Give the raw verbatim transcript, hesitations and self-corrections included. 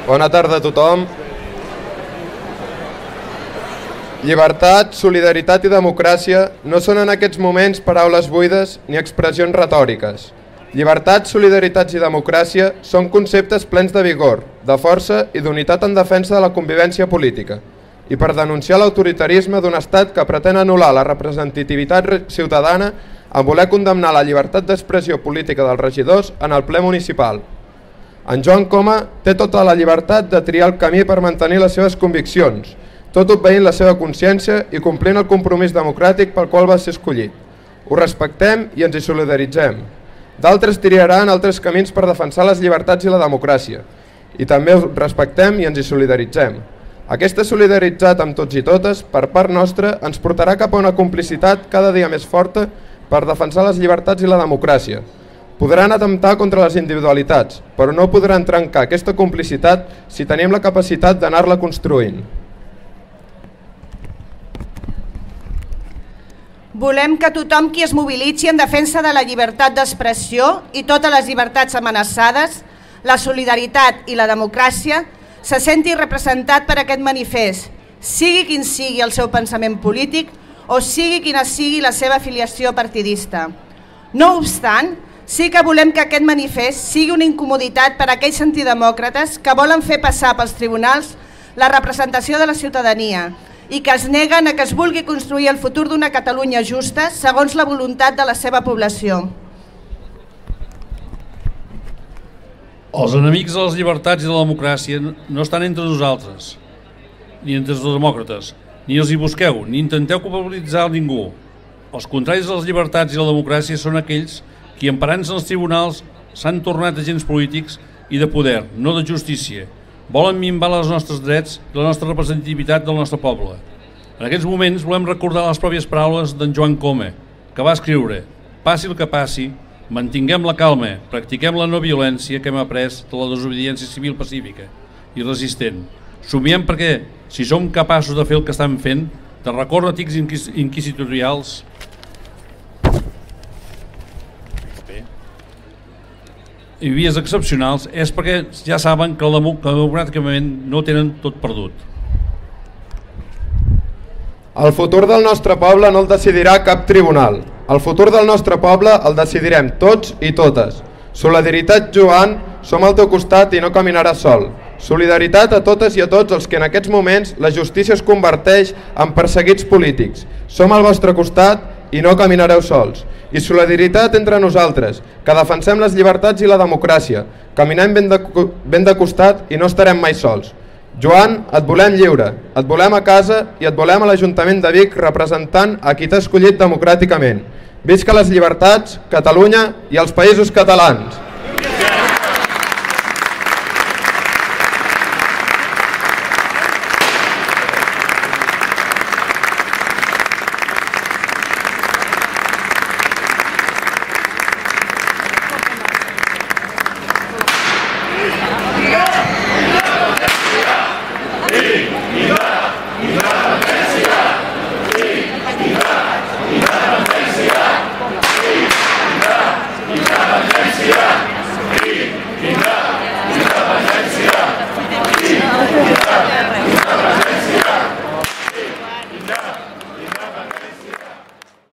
Bona tarda a tothom. Llibertat, solidaritat i democràcia no són en aquests moments paraules buides ni expressions retòriques. Llibertat, solidaritat i democràcia són conceptes plens de vigor, de força i d'unitat en defensa de la convivència política i per denunciar l'autoritarisme d'un estat que pretén anul·lar la representativitat ciutadana en voler condemnar la llibertat d'expressió política dels regidors en el ple municipal. En Joan Coma té tota la llibertat de triar el camí per mantenir les seves conviccions, tot obeint la seva consciència i complint el compromís democràtic pel qual va ser escollit. Ho respectem i ens hi solidaritzem. D'altres triaran altres camins per defensar les llibertats i la democràcia, i també ho respectem i ens hi solidaritzem. Aquesta solidaritat amb tots i totes, per part nostra, ens portarà cap a una complicitat cada dia més forta per defensar les llibertats i la democràcia. Podran atemptar contra les individualitats, però no podran trencar aquesta complicitat si tenim la capacitat d'anar-la construint. Volem que tothom qui es mobilitzi en defensa de la llibertat d'expressió i totes les llibertats amenaçades, la solidaritat i la democràcia, se senti representat per aquest manifest, sigui quin sigui el seu pensament polític o sigui quina sigui la seva afiliació partidista. No obstant, sí que volem que aquest manifest sigui una incomoditat per a aquells antidemòcrates que volen fer passar pels tribunals la representació de la ciutadania i que es neguen a que es vulgui construir el futur d'una Catalunya justa segons la voluntat de la seva població. Els enemics de les llibertats i de la democràcia no estan entre nosaltres, ni entre els demòcrates, ni els hi busqueu, ni intenteu culpabilitzar ningú. Els contraris de les llibertats i la democràcia són aquells qui, emparant-se en els tribunals, s'han tornat agents polítics i de poder, no de justícia. Volen minvar els nostres drets i la nostra representativitat del nostre poble. En aquests moments volem recordar les pròpies paraules d'en Joan Coma, que va escriure: passi el que passi, mantinguem la calma, practiquem la no violència que hem après de la desobediència civil pacífica i resistent. Somiem perquè, si som capaços de fer el que estan fent, de recórrer tics inquisitorials i vies excepcionals, és perquè ja saben que democràticament no tenen tot perdut. El futur del nostre poble no el decidirà cap tribunal. El futur del nostre poble el decidirem tots i totes. Solidaritat, Joan, som al teu costat i no caminaràs sol. Solidaritat a totes i a tots els que en aquests moments la justícia es converteix en perseguits polítics. Som al vostre costat i no caminareu sols. I solidaritat entre nosaltres, que defensem les llibertats i la democràcia. Caminem ben de, ben de costat i no estarem mai sols. Joan, et volem lliure, et volem a casa i et volem a l'Ajuntament de Vic representant a qui t'ha escollit democràticament. Visca les llibertats, Catalunya i els països catalans!